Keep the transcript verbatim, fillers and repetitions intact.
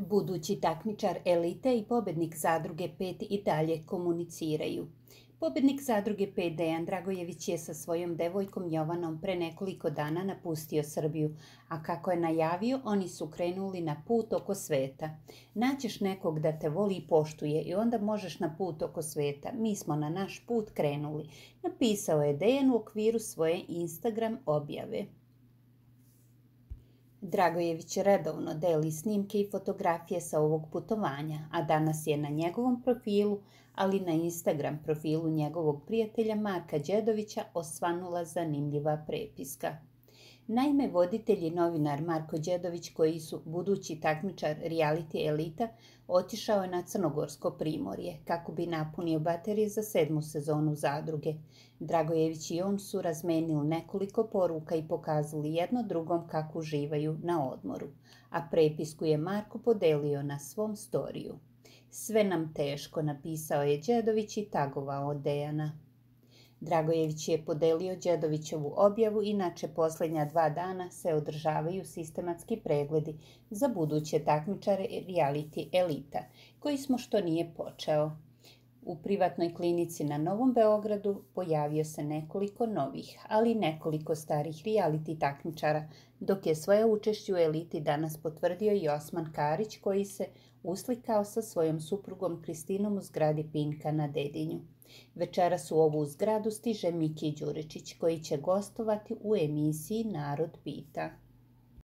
Budući takmičar elite i pobednik Zadruge pet i dalje komuniciraju. Pobednik Zadruge pet Dejan Dragojević je sa svojom devojkom Jovanom pre nekoliko dana napustio Srbiju, a kako je najavio, oni su krenuli na put oko sveta. Nađeš nekog da te voli i poštuje i onda možeš na put oko sveta. Mi smo na naš put krenuli, napisao je Dejan u okviru svoje Instagram objave. Dragojević redovno deli snimke i fotografije sa ovog putovanja, a danas je na njegovom profilu, ali na Instagram profilu njegovog prijatelja Marka Đedovića osvanula zanimljiva prepiska. Naime, voditelj i novinar Marko Đedović, koji su budući takmičar reality elita, otišao je na Crnogorsko primorje kako bi napunio baterije za sedmu sezonu Zadruge. Dragojević i on su razmenili nekoliko poruka i pokazali jedno drugom kako uživaju na odmoru, a prepisku je Marko podelio na svom storiju. Sve nam teško, napisao je Đedović i tagovao Dejana. Dragojević je podelio Đedovićevu objavu, inače posljednja dva dana se održavaju sistematski pregledi za buduće takmičare reality elita, koji smo što nije počeo. U privatnoj klinici na Novom Beogradu pojavio se nekoliko novih, ali i nekoliko starih reality takmičara, dok je svoje učešće u eliti danas potvrdio i Osman Karić, koji se uslikao sa svojom suprugom Kristinom u zgradi Pinka na Dedinju. Večeras u ovu zgradu stiže Miki Đuričić, koji će gostovati u emisiji Narod pita.